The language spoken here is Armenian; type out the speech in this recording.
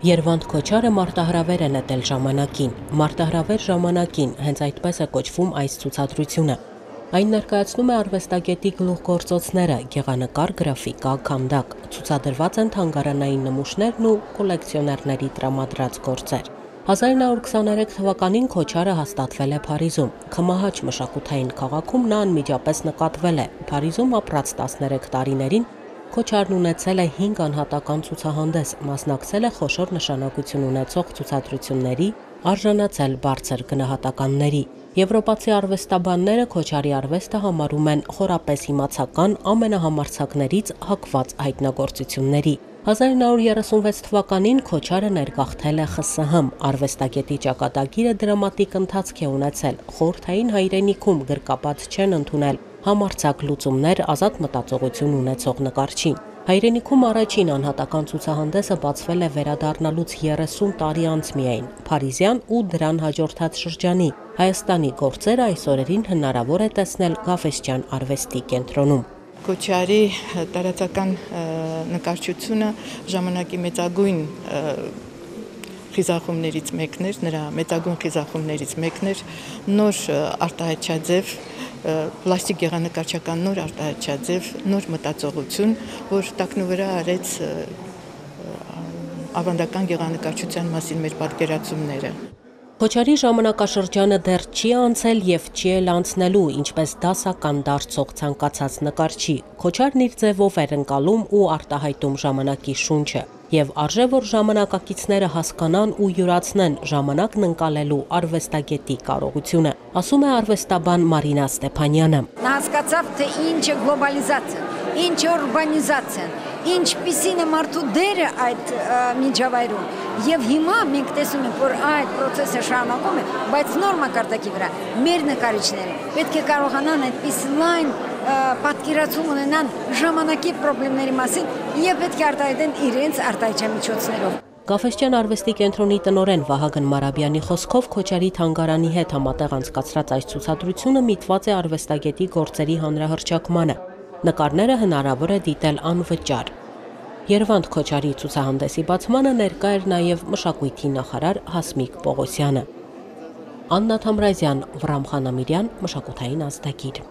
Երվանդ Քոչարը մարտահրավեր է նետել ժամանակին։ Մարտահրավեր ժամանակին, հենց այդպես է կոչվում այս ցուցադրությունը։ Այն ներկայացնում է արվեստագետի գլուխգործոցները՝ գեղանկար, գրաֆիկա, քանդակ։ Ցուցադրված են թանգարանային նմուշներն ու կոլեկցիոներների տրամադրած գործեր։ 1923 թվականին Քոչարը հաստատվել է Փարիզում։ Քմահաչ մշակութային քաղաքում նա անմիջապես նկատվել է։ Փարիզում ապրած 13 տարիներին Քոչարն ունեցել է 5 անհատական ցուցահանդես, մասնակցել է խոշոր նշանակություն ունեցող ցուցադրությունների, արժանացել բարձր գնահատականների։ Եվրոպացի արվեստաբանները Քոչարի արվեստը համարում են խորապես իմացական ամենահամարձակներից հակված հայտնագործությունների։ 1936 թվականին Քոչարը ներգաղթել է ԽՍՀՄ, արվեստագետի ճակատագիրը դրամատիկ ընթացք է ունեցել, խորհրդային հայրենիքում գրկապատ չեն ընդունել համարձակ լուծումներ ազատ մտածողություն ունեցող նկարչին։ Հայրենիքում առաջին անհատական ցուցահանդեսը բացվել է վերադառնալուց 30 տարի անց միայն, փարիզյան ու դրան հաջորդած շրջանի Հայաստանի գործերը այս օրերին հնարավոր է տեսնել Գաֆէսճեան արվեստի կենտրոնում։ Քոչարի տարածական նկարչությունը ժամանակի մեծագույն խիզախումներից մեկն էր, նրա մեծագույն խիզախումներից մեկն էր, նոր արտահայտչաձև, պլաստիկ գեղանկարչական նոր արտահայտչաձև, նոր մտածողություն, որ տակնուվրա արեց ավանդական գեղանկարչության մասին մեր պատկերացումները։ Քոչարի ժամանակաշրջանը դեռ չի անցել եւ չի էլ անցնելու, ինչպես դասական դարձող ցանկացած նկարչի։ Քոչարն իր ձևով էր ընկալում ու արտահայտում ժամանակի շունչը, եւ արժե որ ժամանակակիցները հասկանան ու յուրացնեն ժամանակն ընկալելու արվեստագետի կարողությունը, ասում է արվեստաբան Մարինա Ստեփանյանը։ Նա հասկացավ, թե ինչ է գլոբալիզացիան, ինչ է ուրբանիզացիան, ինչպիսին է մարդու դերը այդ միջավայրում։ Եվ հիմա մենք տեսնում ենք, որ այդ process-ը շարունակում է, բայց նոր մակարդակի վրա մեր նկարիչները պետք է կարողանան այդպես լայն պատկերացում ունենան ժամանակի խնդիրների մասին եւ պետք է արտահայտեն իրենց արտահայտչամիջոցներով։ Գաֆէսճեան արվեստի կենտրոնի տնօրեն Վահագն Մարաբյանի խոսքով Քոչարի թանգարանի հետ համատեղ անցկացրած այս ցուցադրությունը միտված է արվեստագետի գործերի հանրահռչակմանը։ Նկարները հնարավոր է դիտել անվճար։ Երվանդ Քոչարի ցուցահանդեսի բացմանը ներկա էր նաև մշակույթի նախարար Հասմիկ Պողոսյանը։ Աննա Թամրազյան, Վռամ Խանամիրյան, Մշակութային ազդագիր։